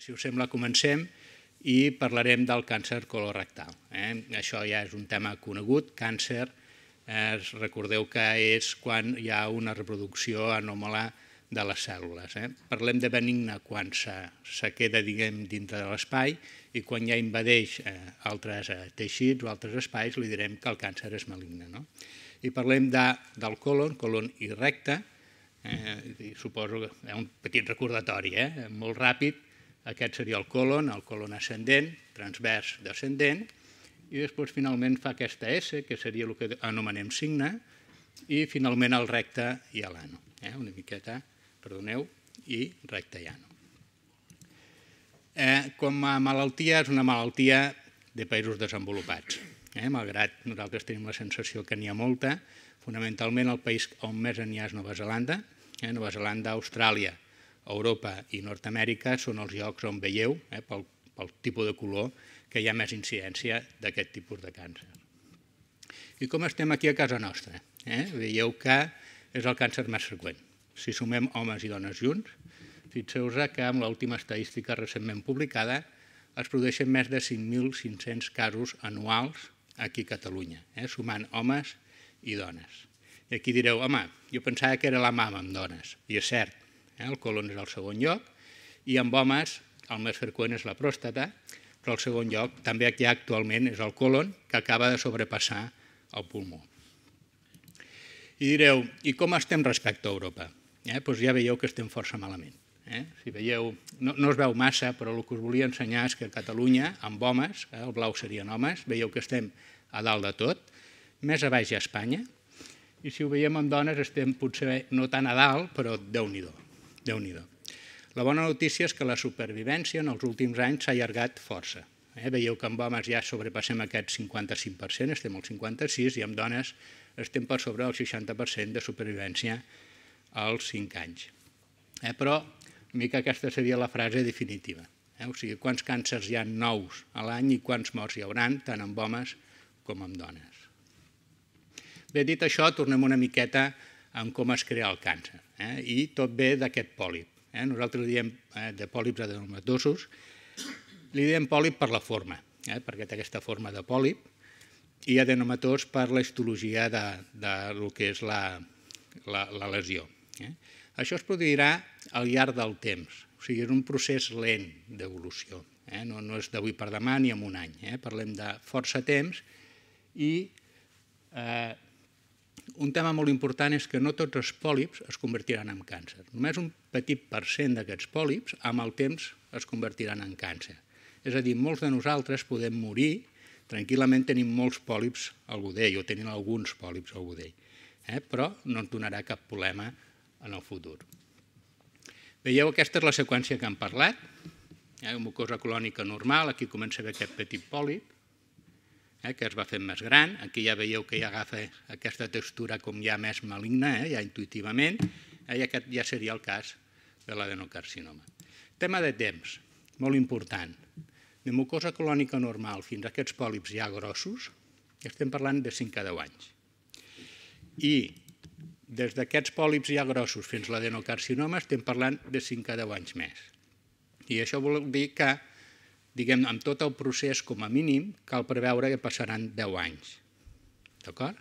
Si us sembla, comencem i parlarem del càncer colorectal. Això ja és un tema conegut. Càncer, recordeu que és quan hi ha una reproducció anòmala de les cèl·lules. Parlem de benigne quan se queda dintre de l'espai i quan ja invadeix altres teixits o altres espais li direm que el càncer és maligne. I parlem del colon i recte. Suposo que és un petit recordatori, molt ràpid. Aquest seria el colon ascendent, transvers descendent, i després finalment fa aquesta S, que seria el que anomenem signe, i finalment el recte i l'ano. Una miqueta, perdoneu, i recte i ano. Com a malaltia, és una malaltia de països desenvolupats. Malgrat nosaltres tenim la sensació que n'hi ha molta, fonamentalment el país on més n'hi ha és Nova Zelanda. Nova Zelanda, Austràlia, Europa i Nord-amèrica són els llocs on veieu, pel tipus de color, que hi ha més incidència d'aquest tipus de càncer. I com estem aquí a casa nostra? Veieu que és el càncer més freqüent. Si sumem homes i dones junts, fixeu-vos que amb l'última estadística recentment publicada es produeixen més de 5.500 casos anuals aquí a Catalunya, sumant homes i dones. I aquí direu, home, jo pensava que era la mama amb dones, i és cert. El colon és el segon lloc, i amb homes el més freqüent és la pròstata, però el segon lloc també aquí actualment és el colon, que acaba de sobrepassar el pulmó. I direu, i com estem respecte a Europa? Doncs ja veieu que estem força malament. Si veieu, no es veu massa, però el que us volia ensenyar és que a Catalunya, amb homes, el blau serien homes, veieu que estem a dalt de tot, més a baix a Espanya, i si ho veiem amb dones estem potser no tan a dalt, però Déu-n'hi-do. La bona notícia és que la supervivència en els últims anys s'ha allargat força. Veieu que amb homes ja sobrepassem aquest 55%, estem al 56%, i amb dones estem per sobre del 60% de supervivència als 5 anys. Però una mica aquesta seria la frase definitiva. O sigui, quants càncers hi ha nous a l'any i quants morts hi haurà, tant amb homes com amb dones. Bé, dit això, tornem una miqueta en com es crea el càncer. I tot ve d'aquest pòlip. Nosaltres diem de pòlips adenomatosos, li diem pòlip per la forma, perquè té aquesta forma de pòlip, i adenomatós per la histologia del que és la lesió. Això es produirà al llarg del temps, o sigui, és un procés lent d'evolució, no és d'avui per demà ni en un any, parlem de força temps, i un tema molt important és que no tots els pòlips es convertiran en càncer. Només un petit % d'aquests pòlips amb el temps es convertiran en càncer. És a dir, molts de nosaltres podem morir, tranquil·lament tenim molts pòlips al budell o tenim alguns pòlips al budell, però no ens donarà cap problema en el futur. Veieu, aquesta és la seqüència que hem parlat. Mucosa colònica normal, aquí comença a haver aquest petit pòlip, que es va fent més gran. Aquí ja veieu que ja agafa aquesta textura com ja més maligna, ja intuïtivament, i aquest ja seria el cas de l'adenocarcinoma. Tema de temps, molt important. De mucosa colònica normal fins a aquests pòlips ja grossos, estem parlant de 5 a 10 anys. I des d'aquests pòlips ja grossos fins a l'adenocarcinoma estem parlant de 5 a 10 anys més. I això vol dir que diguem, amb tot el procés, com a mínim, cal preveure que passaran 10 anys. D'acord?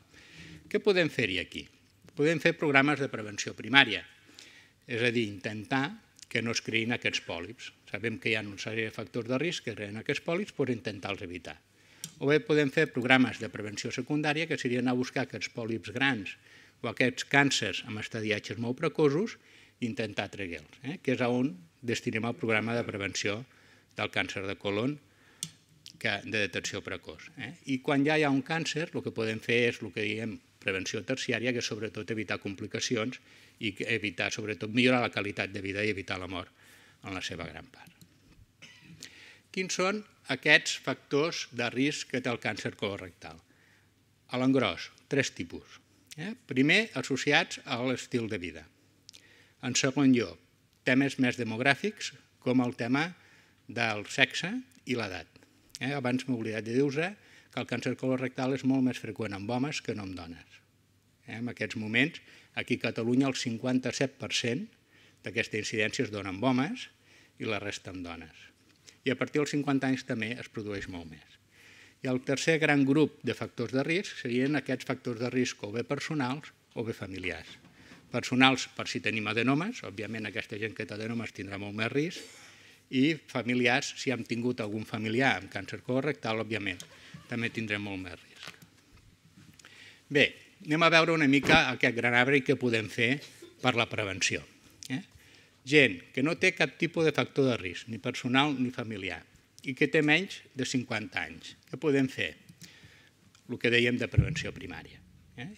Què podem fer-hi aquí? Podem fer programes de prevenció primària, és a dir, intentar que no es creïn aquests pòlips. Sabem que hi ha una sèrie de factors de risc que creen aquests pòlips, però intentar-los evitar. O bé podem fer programes de prevenció secundària, que seria anar a buscar aquests pòlips grans o aquests càncers amb estadiatges molt precoços i intentar treure-los, que és on destinem el programa de prevenció del càncer de colon de detecció precoç. I quan ja hi ha un càncer, el que podem fer és el que diem prevenció terciària, que és sobretot evitar complicacions i evitar, sobretot, millorar la qualitat de vida i evitar la mort en la seva gran part. Quins són aquests factors de risc que té el càncer colorectal? A l'engròs, 3 tipus. Primer, associats a l'estil de vida. En segon lloc, temes més demogràfics, com el tema del sexe i l'edat. Abans m'he oblidat de dir-vos que el càncer colorectal és molt més freqüent amb homes que no amb dones. En aquests moments, aquí a Catalunya, el 57% d'aquesta incidència es dona amb homes i la resta amb dones. I a partir dels 50 anys també es produeix molt més. I el tercer gran grup de factors de risc serien aquests factors de risc o bé personals o bé familiars. Personals per si tenim adenomes, òbviament aquesta gent que té adenomes tindrà molt més risc, i familiars, si hem tingut algun familiar amb càncer colorectal, òbviament, també tindrem molt més risc. Bé, anem a veure una mica aquest gran arbre i què podem fer per la prevenció. Gent que no té cap tipus de factor de risc, ni personal ni familiar, i que té menys de 50 anys. Què podem fer? El que dèiem de prevenció primària.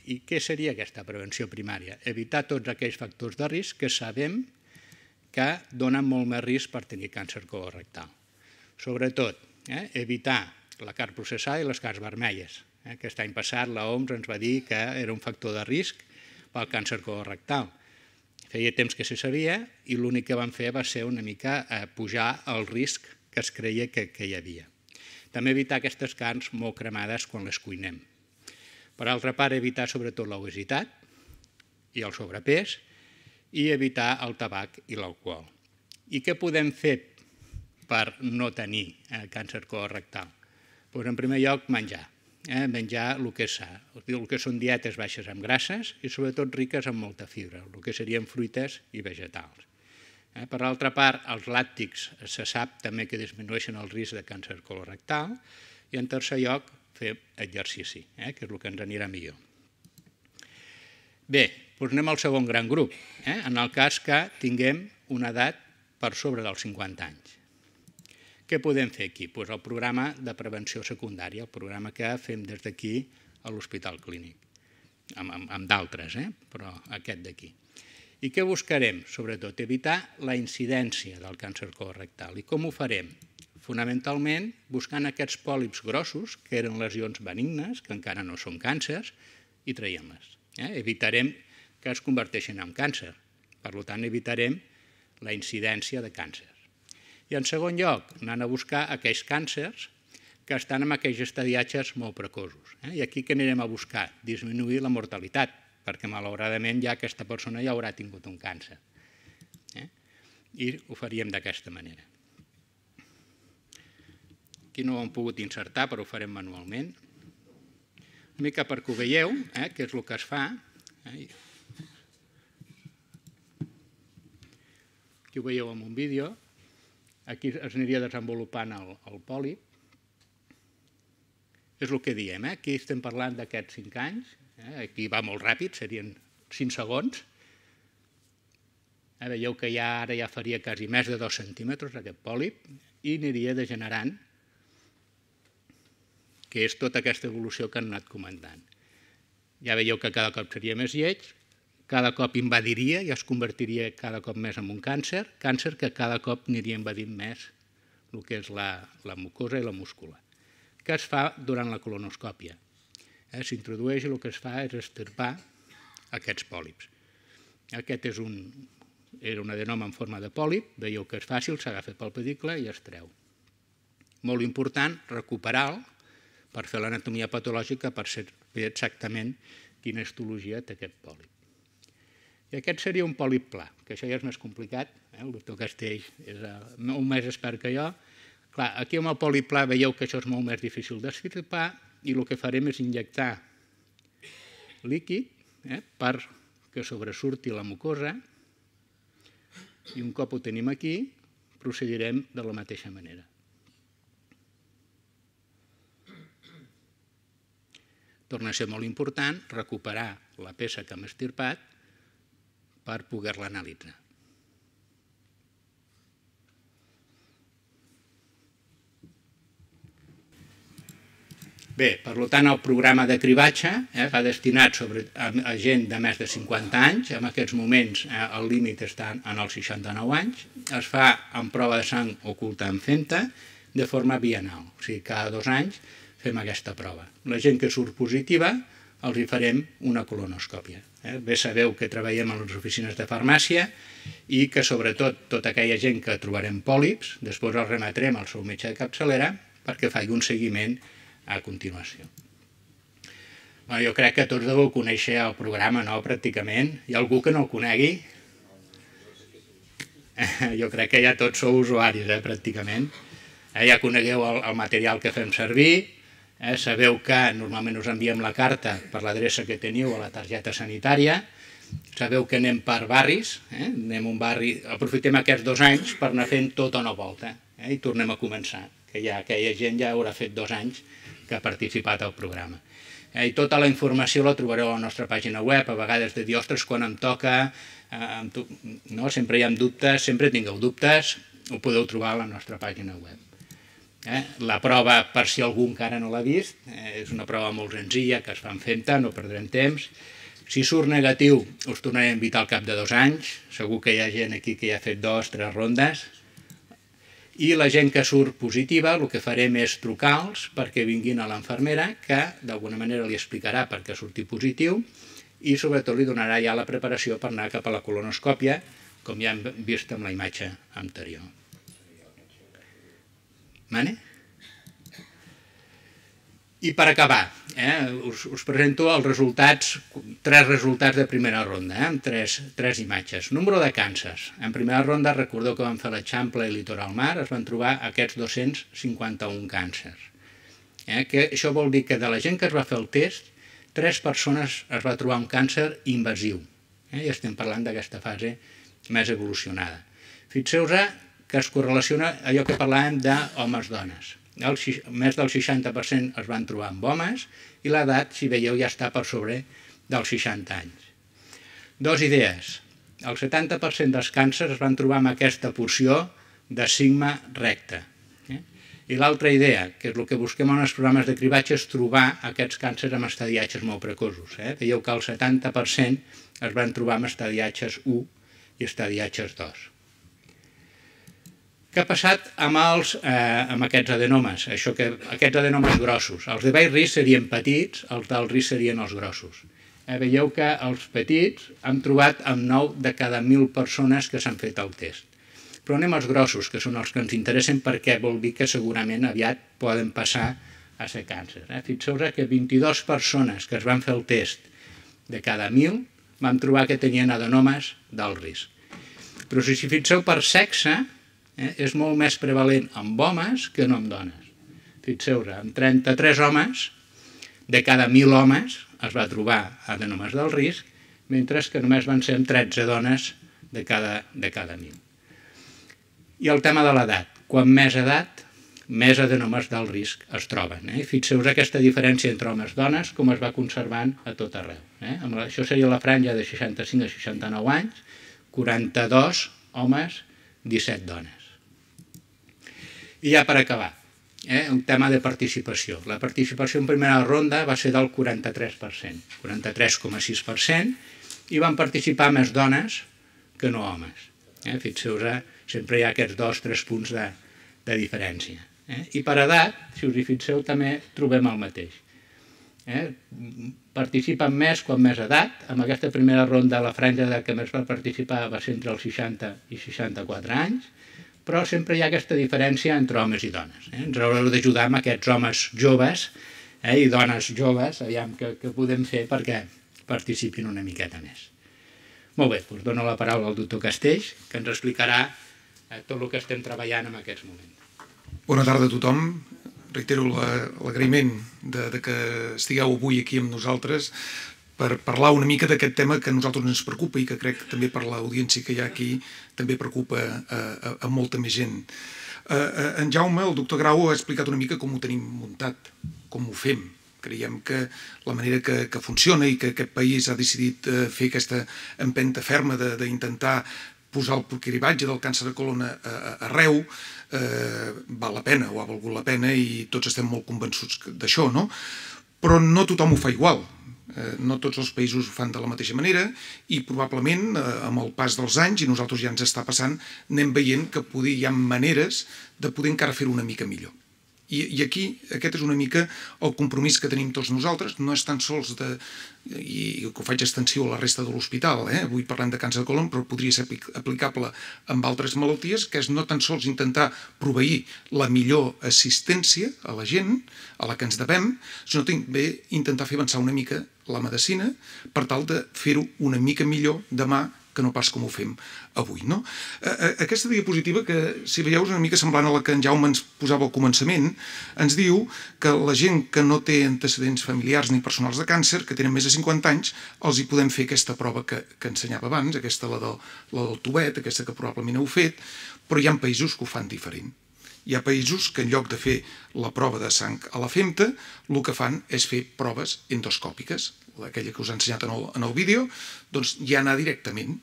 I què seria aquesta prevenció primària? Evitar tots aquells factors de risc que sabem que donen molt més risc per tenir càncer colorectal. Sobretot, evitar la carn processada i les carns vermelles. Aquest any passat l'OMS ens va dir que era un factor de risc pel càncer colorectal. Feia temps que se sabia i l'únic que van fer va ser una mica pujar el risc que es creia que hi havia. També evitar aquestes carns molt cremades quan les cuinem. Per altra part, evitar sobretot l'obesitat i el sobrepès i evitar el tabac i l'alcohol. I què podem fer per no tenir càncer colorectal? Doncs en primer lloc, menjar. Menjar el que és sa. El que són dietes baixes en grasses i sobretot riques en molta fibra, el que serien fruites i vegetals. Per altra part, els làctics se sap també que disminueixen el risc de càncer colorectal i en tercer lloc fer exercici, que és el que ens anirà millor. Bé, doncs anem al segon gran grup, en el cas que tinguem una edat per sobre dels 50 anys. Què podem fer aquí? Doncs el programa de prevenció secundària, el programa que fem des d'aquí a l'Hospital Clínic, amb d'altres, però aquest d'aquí. I què buscarem? Sobretot evitar la incidència del càncer colorectal. I com ho farem? Fonamentalment buscant aquests pòlips grossos, que eren lesions benignes, que encara no són càncers, i traiem-les. Evitarem que es converteixin en càncer. Per tant, evitarem la incidència de càncer. I en segon lloc, anant a buscar aquells càncers que estan en aquells estadiatges molt precoços. I aquí què anirem a buscar? Disminuir la mortalitat, perquè malauradament ja aquesta persona ja haurà tingut un càncer. I ho faríem d'aquesta manera. Aquí no ho hem pogut insertar, però ho farem manualment. Una mica perquè ho veieu, què és el que es fa. Aquí ho veieu en un vídeo. Aquí es aniria desenvolupant el pòlip. És el que diem, aquí estem parlant d'aquests 5 anys, aquí va molt ràpid, serien 5 segons. Veieu que ara ja faria quasi més de 2 centímetres aquest pòlip i aniria degenerant, que és tota aquesta evolució que han anat comentant. Ja veieu que cada cop seria més lleig, cada cop invadiria i es convertiria cada cop més en un càncer, càncer que cada cop aniria invadint més el que és la mucosa i la múscula. Què es fa durant la colonoscòpia? S'introdueix i el que es fa és extirpar aquests pòlips. Aquest era un adenoma en forma de pòlip, veieu que és fàcil, s'agafa pel pedicle i es treu. Molt important recuperar-lo per fer l'anatomia patològica per saber exactament quina histologia té aquest pòlip. I aquest seria un pòlip pla, que això ja és més complicat, el doctor Castells és molt més expert que jo. Clar, aquí amb el pòlip pla veieu que això és molt més difícil d'extirpar i el que farem és injectar líquid perquè sobresurti la mucosa i un cop ho tenim aquí procedirem de la mateixa manera. Torna a ser molt important recuperar la peça que hem extirpat per poder-la analitzar. Bé, per tant, el programa de cribatge va destinat a gent de més de 50 anys, en aquests moments el límit està en els 69 anys, es fa amb prova de sang oculta en femta de forma bienal, o sigui, cada 2 anys fem aquesta prova. La gent que surt positiva els hi farem una colonoscòpia. Bé sabeu que treballem a les oficines de farmàcia i que sobretot tota aquella gent que trobarem pòlips, després els remetrem al seu metge de capçalera perquè faci un seguiment a continuació. Jo crec que tots deveu conèixer el programa, no?, pràcticament. Hi ha algú que no el conegui? Jo crec que ja tots sou usuaris, pràcticament. Ja conegueu el material que fem servir, sabeu que normalment us enviem la carta per l'adreça que teniu a la targeta sanitària, sabeu que anem per barris, anem un barri, aprofitem aquests 2 anys per anar fent tota una volta i tornem a començar, que ja aquella gent ja haurà fet 2 anys que ha participat al programa. I tota la informació la trobareu a la nostra pàgina web, a vegades de dir, ostres, quan em toca, sempre hi ha dubtes, sempre tingueu dubtes, ho podeu trobar a la nostra pàgina web. La prova, per si algú encara no l'ha vist, és una prova molt senzilla que es fan fent-te, no perdrem temps. Si surt negatiu, us tornaré a invitar al cap de 2 anys, segur que hi ha gent aquí que ja ha fet 2 o 3 rondes, i la gent que surt positiva el que farem és trucar-los perquè vinguin a l'infermera, que d'alguna manera li explicarà per què surti positiu i sobretot li donarà ja la preparació per anar cap a la colonoscòpia, com ja hem vist amb la imatge anterior. I per acabar, us presento els resultats, 3 resultats de primera ronda, amb 3 imatges. Número de càncers. En primera ronda, recordeu que vam fer l'Eixample i Litoral Mar, es van trobar aquests 251 càncers. Això vol dir que de la gent que es va fer el test, 3 persones es va trobar un càncer invasiu. I estem parlant d'aquesta fase més evolucionada. Fixeu-vos que es correlaciona allò que parlàvem d'homes-dones. Més del 60% es van trobar amb homes i l'edat, si veieu, ja està per sobre dels 60 anys. 2 idees. El 70% dels càncers es van trobar amb aquesta porció de sigma recte. I l'altra idea, que és el que busquem en els programes de cribatge, és trobar aquests càncers amb estadiatges molt precoços. Veieu que el 70% es van trobar amb estadiatges 1 i estadiatges 2. Què ha passat amb aquests adenomes? Aquests adenomes grossos. Els de baix risc serien petits, els d'alt risc serien els grossos. Veieu que els petits han trobat amb 9 de cada 1.000 persones que s'han fet el test. Però anem als grossos, que són els que ens interessen perquè vol dir que segurament aviat poden passar a ser càncer. Fixeu-vos que 22 persones que es van fer el test de cada 1.000 vam trobar que tenien adenomes d'alt risc. Però si fixeu per sexe, és molt més prevalent amb homes que no amb dones. Fixeu-vos, amb 33 homes, de cada 1.000 homes es va trobar adenomes d'alt risc, mentre que només van ser amb 13 dones de cada 1.000. I el tema de l'edat. Quan més edat, més adenomes d'alt risc es troben. Fixeu-vos aquesta diferència entre homes i dones, com es va conservant a tot arreu. Això seria la franja de 65 a 69 anys, 42 homes, 17 dones. I ja per acabar, un tema de participació. La participació en primera ronda va ser del 43%, 43,6%, i van participar més dones que no homes. Fixeu-vos, sempre hi ha aquests 2 o 3 punts de diferència. I per edat, si us hi fixeu, també trobem el mateix. Participen més quan més edat. En aquesta primera ronda la franja d'edat que més va participar va ser entre els 60 i 64 anys, però sempre hi ha aquesta diferència entre homes i dones. Ens haureu d'ajudar amb aquests homes joves i dones joves, aviam què podem fer perquè participin una miqueta més. Molt bé, doncs dono la paraula al doctor Castells, que ens explicarà tot el que estem treballant en aquests moments. Bona tarda a tothom. Reitero l'agraïment que estigueu avui aquí amb nosaltres per parlar una mica d'aquest tema que a nosaltres ens preocupa i que crec que també per l'audiència que hi ha aquí també preocupa a molta més gent. En Jaume, el doctor Grau, ha explicat una mica com ho tenim muntat, com ho fem. Creiem que la manera que funciona i que aquest país ha decidit fer aquesta empenta ferma d'intentar posar el cribatge del càncer de colon arreu val la pena o ha valgut la pena i tots estem molt convençuts d'això, no? Però no tothom ho fa igual. No tots els països ho fan de la mateixa manera i probablement amb el pas dels anys, i nosaltres ja ens està passant, anem veient que hi ha maneres de poder encara fer-ho una mica millor. I aquí aquest és una mica el compromís que tenim tots nosaltres, no és tan sols i que ho faig extensiu a la resta de l'hospital, avui parlem de càncer de colon, però podria ser aplicable amb altres malalties, que és no tan sols intentar proveir la millor assistència a la gent, a la que ens devem, sinó també intentar fer avançar una mica la medicina per tal de fer-ho una mica millor demà que no pas com ho fem avui. Aquesta diapositiva, que si veieu és una mica semblant a la que en Jaume ens posava al començament, ens diu que la gent que no té antecedents familiars ni personals de càncer, que tenen més de 50 anys, els hi podem fer aquesta prova que ensenyava abans, aquesta la del tubet, aquesta que probablement heu fet, però hi ha països que ho fan diferent. Hi ha països que en lloc de fer la prova de sang a la femta, el que fan és fer proves endoscòpiques, aquella que us he ensenyat en el vídeo, doncs ja anar directament,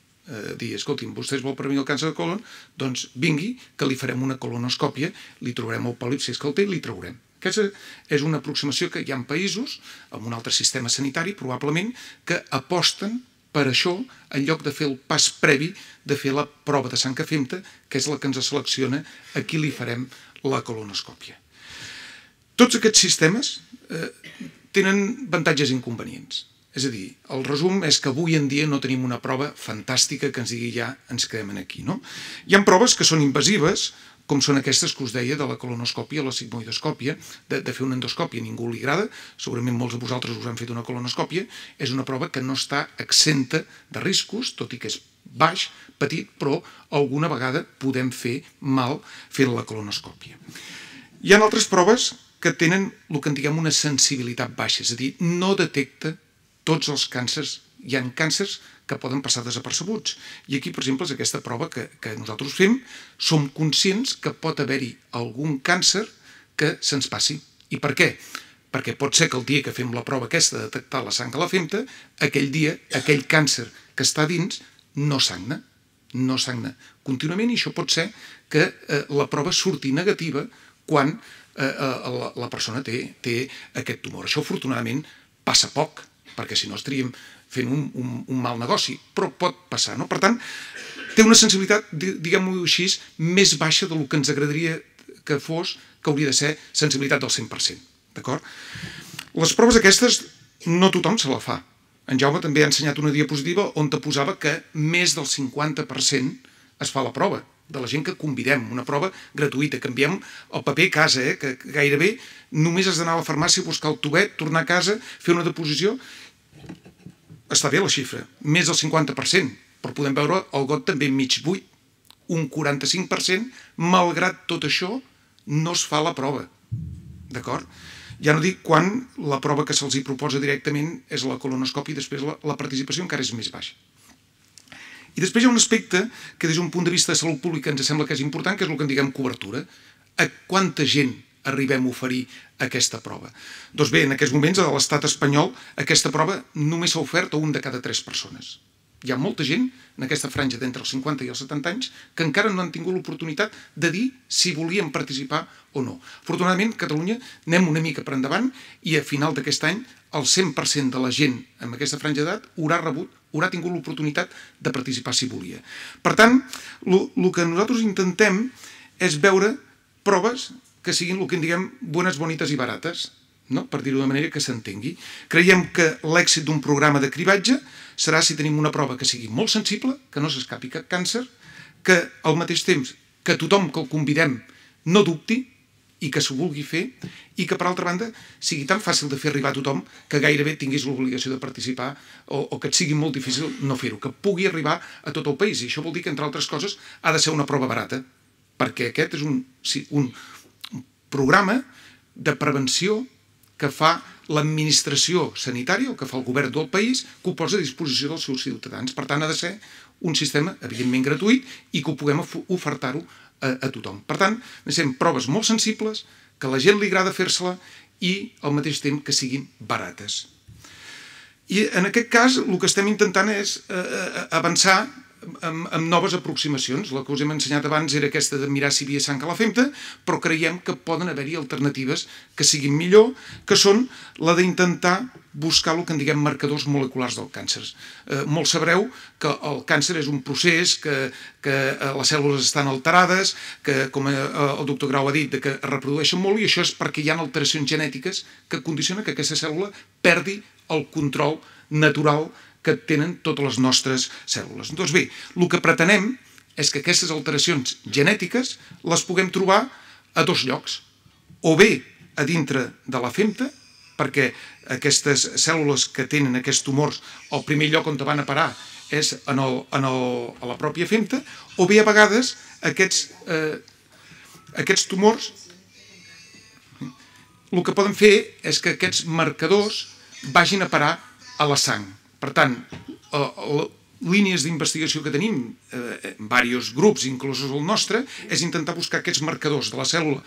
dir, escolti'm, vostès vol prevenir el càncer de colon, doncs vingui, que li farem una colonoscòpia, li trobarem el pòlip, si és que el té, li traurem. Aquesta és una aproximació que hi ha països, amb un altre sistema sanitari, probablement, que aposten per això, en lloc de fer el pas previ de fer la prova de sang a femta, que és la que ens selecciona a qui li farem la colonoscòpia. Tots aquests sistemes tenen avantatges i inconvenients. És a dir, el resum és que avui en dia no tenim una prova fantàstica que ens digui ja ens quedem aquí. Hi ha proves que són invasives, com són aquestes que us deia de la colonoscòpia, la sigmoidoscòpia, de fer una endoscòpia. A ningú li agrada, segurament molts de vosaltres us han fet una colonoscòpia, és una prova que no està exenta de riscos, tot i que és baix, petit, però alguna vegada podem fer mal fent la colonoscòpia. Hi ha altres proves que tenen el que en diguem una sensibilitat baixa, és a dir, no detecta tots els càncers. Hi ha càncers que poden passar desapercebuts. I aquí, per exemple, és aquesta prova que nosaltres fem, som conscients que pot haver-hi algun càncer que se'ns passi. I per què? Perquè pot ser que el dia que fem la prova aquesta de detectar la sang a la femta, aquell dia, aquell càncer que està dins no sagna contínuament, i això pot ser que la prova surti negativa quan la persona té aquest tumor. Això, afortunadament, passa poc, perquè si no estaríem fent un mal negoci, però pot passar. Per tant, té una sensibilitat, diguem-ho així, més baixa del que ens agradaria que fos, que hauria de ser sensibilitat del 100%. D'acord? Les proves aquestes no tothom se la fa. En Jaume també ha ensenyat una diapositiva on te posava que més del 50% es fa la prova, de la gent que convidem, una prova gratuïta, que enviem el paper a casa, que gairebé només has d'anar a la farmàcia a buscar el tubet, tornar a casa, fer una deposició. Està bé la xifra, més del 50%, però podem veure el got també mig buit. Un 45%, malgrat tot això, no es fa la prova. D'acord? Ja no dic quan la prova que se'ls proposa directament és la colonoscòpia i després la participació encara és més baixa. I després hi ha un aspecte que des d'un punt de vista de salut pública ens sembla que és important, que és el que en diguem cobertura. A quanta gent arribem a oferir aquesta prova? Doncs bé, en aquests moments a l'estat espanyol aquesta prova només s'ha ofert a un de cada 3 persones. Hi ha molta gent en aquesta franja d'entre els 50 i els 70 anys que encara no han tingut l'oportunitat de dir si volien participar o no. Afortunadament, a Catalunya anem una mica per endavant i a final d'aquest any el 100% de la gent amb aquesta franja d'edat haurà tingut l'oportunitat de participar si volia. Per tant, el que nosaltres intentem és veure proves que siguin el que en diguem bones, bonites i barates, per dir-ho de manera que s'entengui. Creiem que l'èxit d'un programa de cribatge serà si tenim una prova que sigui molt sensible, que no s'escapi cap càncer, que al mateix temps que tothom que el convidem no dubti i que s'ho vulgui fer, i que per altra banda sigui tan fàcil de fer arribar a tothom que gairebé tinguis l'obligació de participar o que et sigui molt difícil no fer-ho, que pugui arribar a tot el país. I això vol dir que, entre altres coses, ha de ser una prova barata, perquè aquest és un programa de prevenció que fa l'administració sanitària, o que fa el govern del país, que ho posa a disposició dels seus ciutadans. Per tant, ha de ser un sistema, evidentment, gratuït i que ho puguem ofertar-ho a tothom. Per tant, necessitem proves molt sensibles, que a la gent li agrada fer-se-la i, al mateix temps, que siguin barates. I, en aquest cas, el que estem intentant és avançar amb noves aproximacions. La que us hem ensenyat abans era aquesta de mirar si hi havia sang a la femta, però creiem que poden haver-hi alternatives que siguin millor, que són la d'intentar buscar el que en diguem marcadors moleculars del càncer. Molts sabreu que el càncer és un procés, que les cèl·lules estan alterades, que, com el doctor Grau ha dit, que es reprodueixen molt, i això és perquè hi ha alteracions genètiques que condicionen que aquesta cèl·lula perdi el control natural que tenen totes les nostres cèl·lules. Doncs bé, el que pretenem és que aquestes alteracions genètiques les puguem trobar a 2 llocs. O bé a dintre de la femta, perquè aquestes cèl·lules que tenen aquests tumors, el primer lloc on van a parar és a la pròpia femta, o bé a vegades aquests tumors el que poden fer és que aquests marcadors vagin a parar a la sang. Per tant, línies d'investigació que tenim en diversos grups, inclús el nostre, és intentar buscar aquests marcadors de la cèl·lula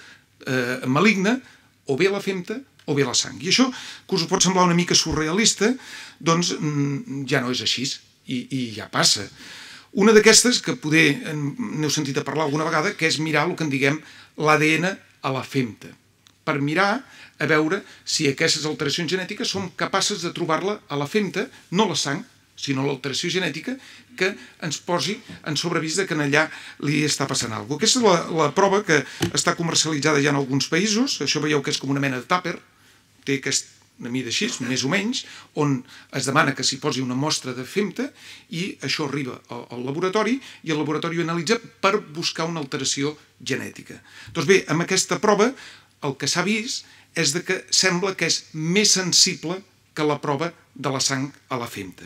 maligna o bé a la femta o bé a la sang. I això, que us pot semblar una mica surrealista, doncs ja no és així i ja passa. Una d'aquestes, que poder n'heu sentit a parlar alguna vegada, que és mirar el que en diguem l'ADN a la femta, per mirar a veure si aquestes alteracions genètiques som capaces de trobar-la a la femta, no a la sang, sinó l'alteració genètica que ens posi en sobrevís que allà li està passant alguna cosa. Aquesta és la prova que està comercialitzada ja en alguns països. Això veieu que és com una mena de tàper, té una mida així, més o menys, on es demana que s'hi posi una mostra de femta i això arriba al laboratori i el laboratori ho analitza per buscar una alteració genètica. Doncs bé, amb aquesta prova el que s'ha vist és que sembla que és més sensible que la prova de la sang a la femta.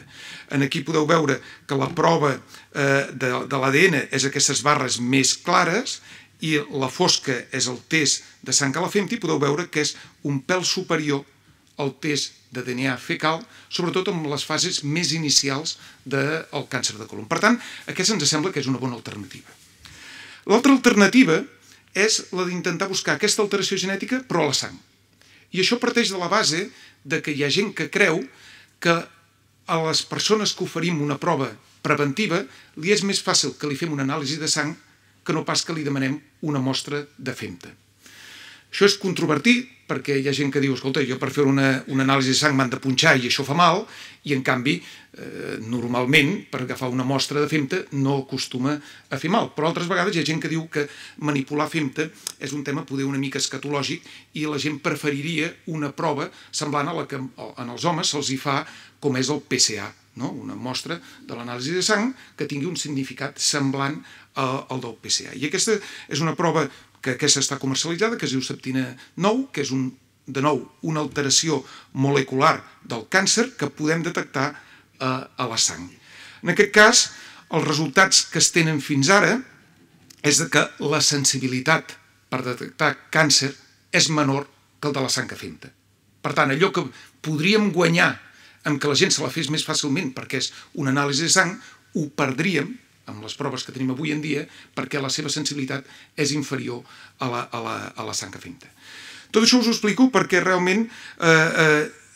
Aquí podeu veure que la prova de l'ADN és aquestes barres més clares i la fosca és el test de sang a la femta i podeu veure que és un pèl superior al test de DNA fecal, sobretot en les fases més inicials del càncer de colon. Per tant, aquesta ens sembla que és una bona alternativa. L'altra alternativa és la d'intentar buscar aquesta alteració genètica però a la sang. I això parteix de la base que hi ha gent que creu que a les persones que oferim una prova preventiva li és més fàcil que li fem una anàlisi de sang que no pas que li demanem una mostra de femta. Això és controvertit perquè hi ha gent que diu, escolta, jo per fer una anàlisi de sang m'han de punxar i això fa mal, i en canvi, normalment, per agafar una mostra de femta no acostuma a fer mal. Però altres vegades hi ha gent que diu que manipular femta és un tema poder una mica escatològic i la gent preferiria una prova semblant a la que en els homes se'ls hi fa com és el PSA, una mostra de l'anàlisi de sang que tingui un significat semblant al del PSA. I aquesta és una prova que aquesta està comercialitzada, que es diu septina 9, que és, de nou, una alteració molecular del càncer que podem detectar a la sang. En aquest cas, els resultats que es tenen fins ara és que la sensibilitat per detectar càncer és menor que el de la sang a femta. Per tant, allò que podríem guanyar amb que la gent se la fes més fàcilment perquè és una anàlisi de sang, ho perdríem amb les proves que tenim avui en dia, perquè la seva sensibilitat és inferior a la sang a femta. Tot això us ho explico perquè realment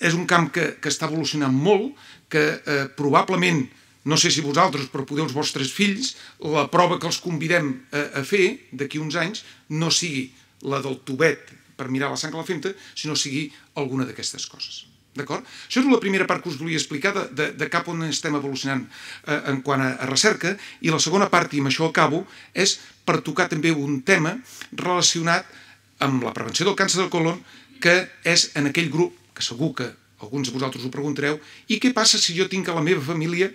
és un camp que està evolucionant molt, que probablement, no sé si vosaltres, però poder els vostres fills, la prova que els convidem a fer d'aquí uns anys no sigui la del tubet per mirar la sang a la femta, sinó sigui alguna d'aquestes coses. D'acord? Això és la primera part que us volia explicar de cap on estem evolucionant en quant a recerca, i la segona part, i amb això acabo, és per tocar també un tema relacionat amb la prevenció del càncer del colon, que és en aquell grup, que segur que alguns de vosaltres ho preguntareu, i què passa si jo tinc a la meva família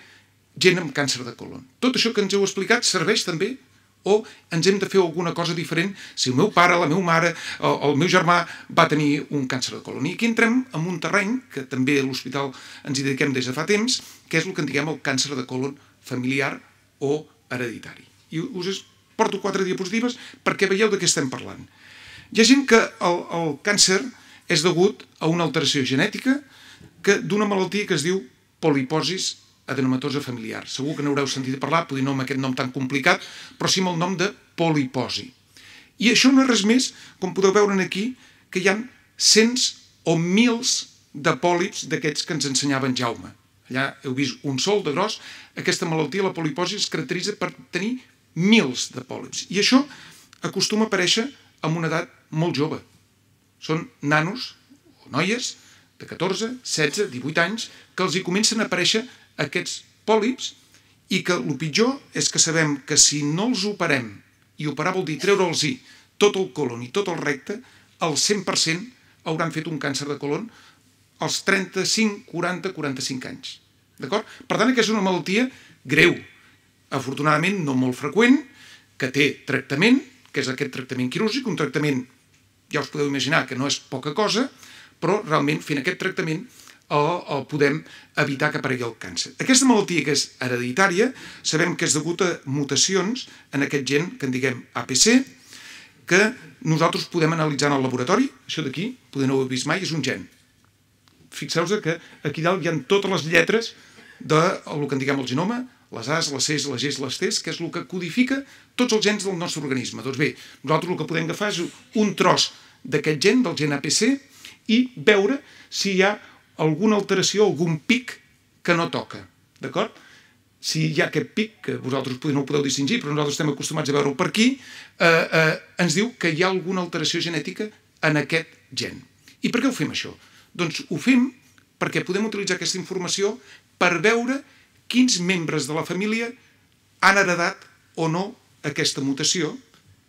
gent amb càncer de colon? Tot això que ens heu explicat serveix també? O ens hem de fer alguna cosa diferent si el meu pare, la meva mare, el meu germà va tenir un càncer de colon? I aquí entrem en un terreny que també a l'hospital ens hi dediquem des de fa temps, que és el que en diguem el càncer de colon familiar o hereditari. I us porto 4 diapositives perquè veieu de què estem parlant. Hi ha gent que el càncer és degut a una alteració genètica d'una malaltia que es diu poliposis adenomatosa familiar. Segur que n'haureu sentit parlar, potser no amb aquest nom tan complicat, però sí amb el nom de poliposi. I això no és res més, com podeu veure aquí, que hi ha cents o mils de pòlips d'aquests que ens ensenyava en Jaume. Allà heu vist un sol de gros. Aquesta malaltia, la poliposi, es caracteritza per tenir mils de pòlips. I això acostuma a aparèixer amb una edat molt jove. Són nanos o noies de 14, 16, 18 anys que els hi comencen a aparèixer aquests pòlips i que el pitjor és que sabem que si no els operem, i operar vol dir treure'ls-hi tot el colon i tot el recte, el 100% hauran fet un càncer de colon als 35, 40, 45 anys. D'acord? Per tant, aquesta és una malaltia greu, afortunadament no molt freqüent, que té tractament, que és aquest tractament quirúrgic, un tractament, ja us podeu imaginar que no és poca cosa, però realment fent aquest tractament o podem evitar que aparegui el càncer. Aquesta malaltia que és hereditària sabem que és degut a mutacions en aquest gen que en diguem APC, que nosaltres podem analitzar en el laboratori. Això d'aquí, poder no ho heu vist mai, és un gen. Fixeu-vos que aquí dalt hi ha totes les lletres del que en diguem el genoma, les A's, les C's, les G's, les T's, que és el que codifica tots els gens del nostre organisme. Doncs bé, nosaltres el que podem agafar és un tros d'aquest gen, del gen APC, i veure si hi ha alguna alteració, algun pic que no toca, d'acord? Si hi ha aquest pic, que vosaltres no ho podeu distingir, però nosaltres estem acostumats a veure-ho per aquí, ens diu que hi ha alguna alteració genètica en aquest gen. I per què ho fem, això? Doncs ho fem perquè podem utilitzar aquesta informació per veure quins membres de la família han heredat o no aquesta mutació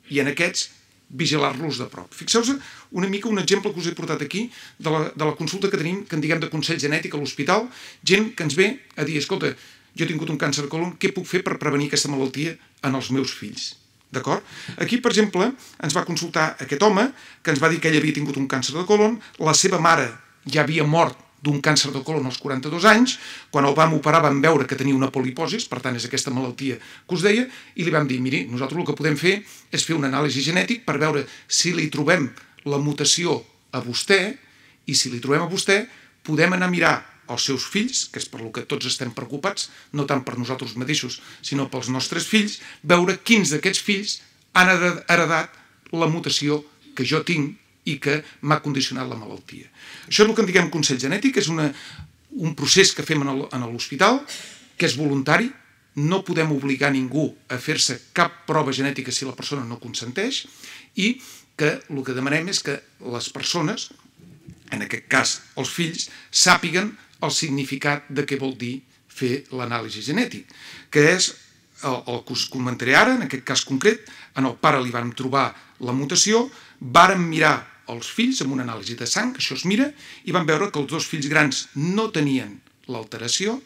i en aquests vigilar-los de prop. Fixeu-vos una mica un exemple que us he portat aquí de la consulta que tenim, que en diguem de consell genètic a l'hospital, gent que ens ve a dir, escolta, jo he tingut un càncer de colon, què puc fer per prevenir aquesta malaltia en els meus fills? D'acord? Aquí, per exemple, ens va consultar aquest home que ens va dir que ell havia tingut un càncer de colon, la seva mare ja havia mort d'un càncer de colon als 42 anys, quan el vam operar vam veure que tenia una poliposis, per tant és aquesta malaltia que us deia, i li vam dir, miri, nosaltres el que podem fer és fer un anàlisi genètic per veure si li trobem la mutació a vostè, i si li trobem a vostè, podem anar a mirar els seus fills, que és per lo que tots estem preocupats, no tant per nosaltres mateixos, sinó pels nostres fills, veure quins d'aquests fills han heredat la mutació que jo tinc i que m'ha condicionat la malaltia. Això és el que en diguem consell genètic, és un procés que fem a l'hospital, que és voluntari, no podem obligar ningú a fer-se cap prova genètica si la persona no consenteix, i que el que demanem és que les persones, en aquest cas els fills, sàpiguen el significat de què vol dir fer l'anàlisi genètic, que és el que us comentaré ara, en aquest cas concret. En el pare li vam trobar la mutació, vàrem mirar els fills amb una anàlisi de sang, això es mira, i vam veure que els dos fills grans no tenien l'alteració,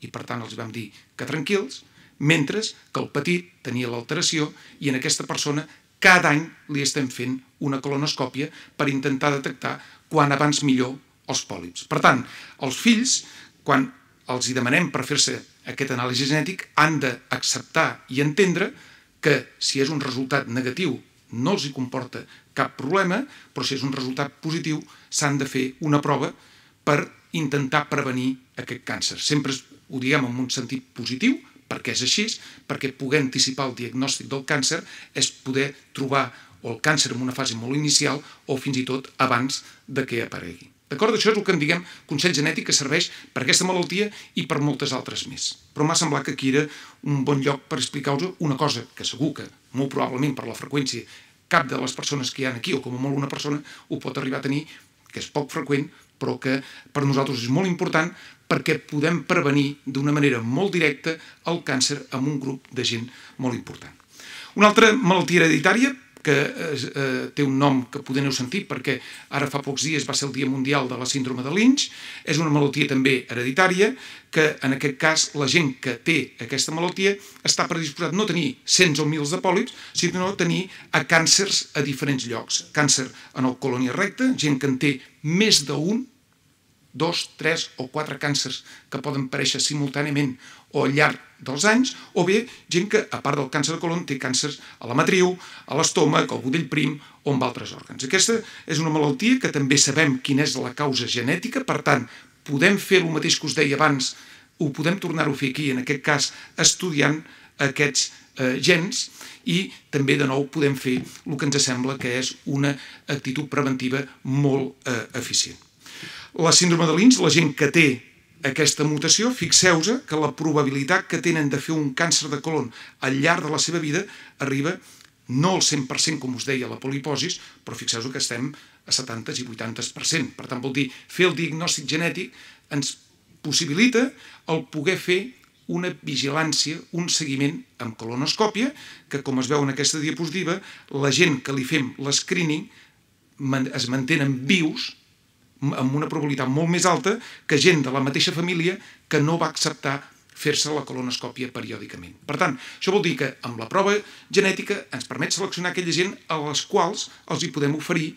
i per tant els vam dir que tranquils, mentre que el petit tenia l'alteració, i en aquesta persona cada any li estem fent una colonoscòpia per intentar detectar quan abans millor els pòlips. Per tant, els fills, quan els hi demanem per fer-se aquest anàlisi genètic, han d'acceptar i entendre que si és un resultat negatiu no els hi comporta cap problema, però si és un resultat positiu s'han de fer una prova per intentar prevenir aquest càncer. Sempre ho diguem en un sentit positiu, perquè és així, perquè poder anticipar el diagnòstic del càncer és poder trobar el càncer en una fase molt inicial o fins i tot abans de que aparegui. D'acord? Això és el que en diguem consell genètic, que serveix per aquesta malaltia i per moltes altres més. Però m'ha semblat que aquí era un bon lloc per explicar-vos una cosa que segur que, molt probablement per la freqüència, cap de les persones que hi ha aquí, o com a molt una persona, ho pot arribar a tenir, que és poc freqüent, però que per nosaltres és molt important perquè podem prevenir d'una manera molt directa el càncer amb un grup de gent molt important. Una altra malaltia hereditària, que té un nom que poder n'heu sentit perquè ara fa pocs dies va ser el Dia Mundial de la Síndrome de Lynch, és una malaltia també hereditària, que en aquest cas la gent que té aquesta malaltia està predisposat no a tenir cents o mils de pòlips, sinó a tenir càncers a diferents llocs. Càncer en el colon i recte, gent que en té més d'un, 2, 3 o 4 càncers que poden aparèixer simultàniament o al llarg dels anys, o bé gent que, a part del càncer de colon, té càncers a la matriu, a l'estómac, al budell prim o amb altres òrgans. Aquesta és una malaltia que també sabem quina és la causa genètica, per tant, podem fer el mateix que us deia abans, ho podem tornar-ho a fer aquí, en aquest cas, estudiant aquests gens, i també, de nou, podem fer el que ens sembla que és una actitud preventiva molt eficient. La síndrome de Lynch, la gent que té aquesta mutació, fixeu-vos que la probabilitat que tenen de fer un càncer de colon al llarg de la seva vida arriba no al 100%, com us deia, la poliposis, però fixeu-vos que estem a 70 i 80%. Per tant, vol dir, fer el diagnòstic genètic ens possibilita el poder fer una vigilància, un seguiment amb colonoscòpia, que, com es veu en aquesta diapositiva, la gent que li fem l'escreening es mantenen vius amb una probabilitat molt més alta que gent de la mateixa família que no va acceptar fer-se la colonoscòpia periòdicament. Per tant, això vol dir que amb la prova genètica ens permet seleccionar aquella gent a les quals els hi podem oferir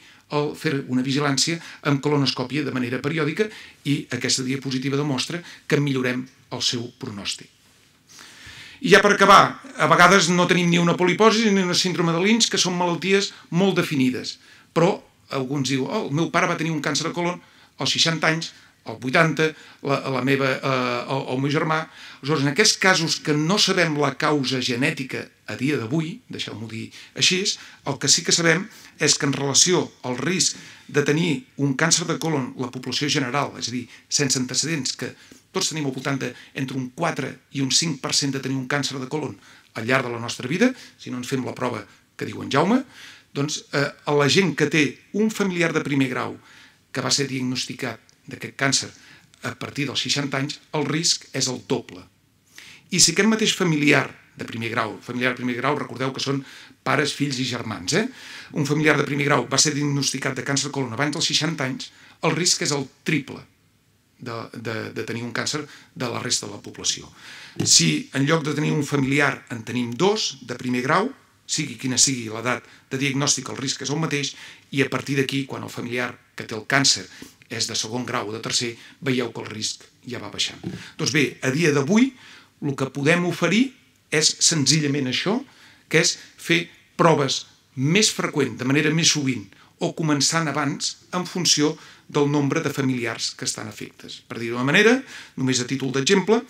fer una vigilància amb colonoscòpia de manera periòdica i aquesta diapositiva demostra que millorem el seu pronòstic. I ja per acabar, a vegades no tenim ni una poliposi ni una síndrome de Lynch, que són malalties molt definides, però alguns diuen, el meu pare va tenir un càncer de colon als 60 anys, als 80, el meu germà. Aleshores, en aquests casos que no sabem la causa genètica a dia d'avui, deixeu-m'ho dir així, el que sí que sabem és que en relació al risc de tenir un càncer de colon la població general, és a dir, sense antecedents, que tots tenim al voltant entre un 4 i un 5% de tenir un càncer de colon al llarg de la nostra vida, si no ens fem la prova que diu en Jaume, doncs a la gent que té un familiar de primer grau que va ser diagnosticat d'aquest càncer a partir dels 60 anys, el risc és el doble. I si aquest mateix familiar de primer grau, recordeu que són pares, fills i germans, un familiar de primer grau va ser diagnosticat de càncer de colon abans dels 60 anys, el risc és el triple de tenir un càncer de la resta de la població. Si en lloc de tenir un familiar en tenim dos de primer grau, sigui quina sigui l'edat de diagnòstic, el risc és el mateix, i a partir d'aquí, quan el familiar que té el càncer és de segon grau o de tercer, veieu que el risc ja va baixant. Doncs bé, a dia d'avui, el que podem oferir és senzillament això, que és fer proves més freqüent, de manera més sovint, o començant abans en funció del nombre de familiars que estan afectes. Per dir-ho d'una manera, només a títol d'exemple,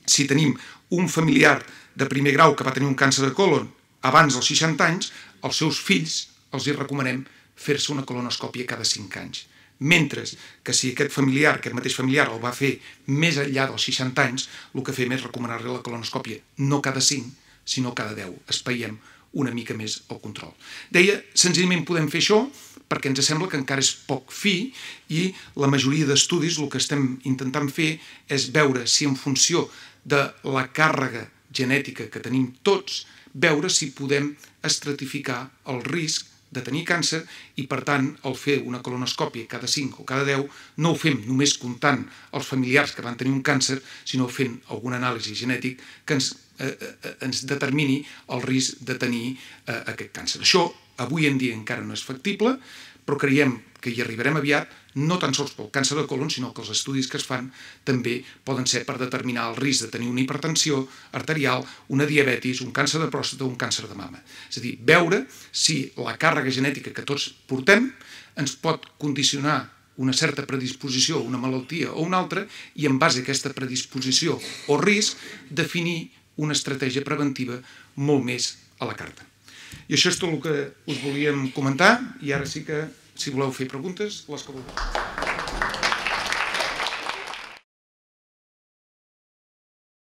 si tenim un familiar de primer grau que va tenir un càncer de colon abans dels 60 anys, als seus fills els hi recomanem fer-se una colonoscòpia cada 5 anys. Mentre que si aquest mateix familiar el va fer més enllà dels 60 anys, el que fem és recomanar-li la colonoscòpia no cada 5, sinó cada 10. Espaiem una mica més el control. Deia, senzillament podem fer això perquè ens sembla que encara és poc fi i la majoria d'estudis el que estem intentant fer és veure si en funció de la càrrega genètica que tenim tots, veure si podem estratificar el risc de tenir càncer i, per tant, al fer una colonoscòpia cada 5 o cada 10, no ho fem només comptant els familiars que van tenir un càncer, sinó fent algun anàlisi genètic que ens determini el risc de tenir aquest càncer. Això avui en dia encara no és factible, però creiem que hi arribarem aviat, no tan sols pel càncer de colon, sinó que els estudis que es fan també poden ser per determinar el risc de tenir una hipertensió arterial, una diabetis, un càncer de pròstata o un càncer de mama. És a dir, veure si la càrrega genètica que tots portem ens pot condicionar una certa predisposició a una malaltia o una altra i en base a aquesta predisposició o risc definir una estratègia preventiva molt més a la carta. I això és tot el que us volíem comentar i ara sí que, si voleu fer preguntes, les que vulgueu.